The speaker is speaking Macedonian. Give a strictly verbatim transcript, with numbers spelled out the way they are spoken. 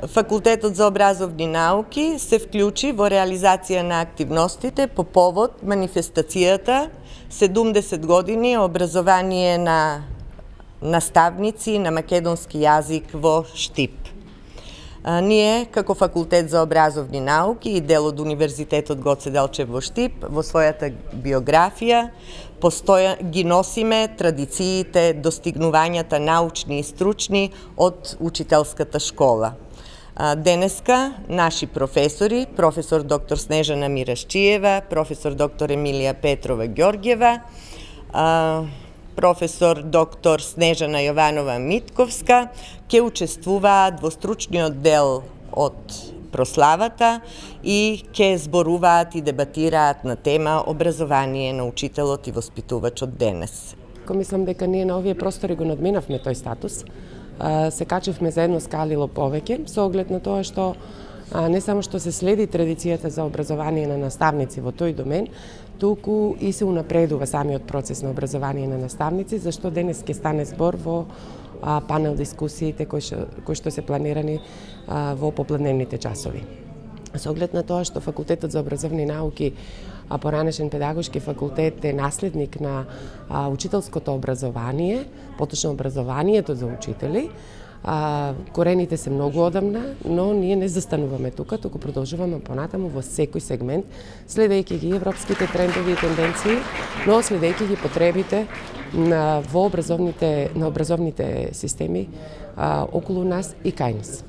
Факултетот за образовни науки се вклучи во реализација на активностите по повод манифестацијата седумдесет години образование на наставници на македонски јазик во Штип. Ние, како Факултет за образовни науки и дел од Универзитетот Гоце Делчев во Штип, во својата биографија постоја, ги носиме традициите, достигнувањата научни и стручни од учителската школа. Денеска наши професори, професор доктор Снежана Мирашчиева, професор доктор Емилија Петрова Ѓорѓева, професор доктор Снежана Јованова Митковска, ќе учествуваат во стручниот дел од прославата и ќе зборуваат и дебатираат на тема образование на учителот и воспитувачот денес. Ко мислам дека ние на овие простори го надминавме тој статус. Се качивме за едно скалило повеќе, со оглед на тоа што не само што се следи традицијата за образование на наставници во тој домен, туку и се унапредува самиот процес на образование на наставници, зашто денес ќе стане збор во панел дискусиите кои што, кои што се планирани во попладневните часови. Со оглед на тоа што Факултетот за образовни науки, а поранешен педагошки факултет, е наследник на а, учителското образование, поточно образованието за учители. А, корените се многу одамна, но ние не застануваме тука, туку продолжуваме понатаму во секој сегмент, следејќи ги европските трендови и тенденции, но следејќи ги потребите на, во образовните, на образовните системи а, околу нас и кај нас.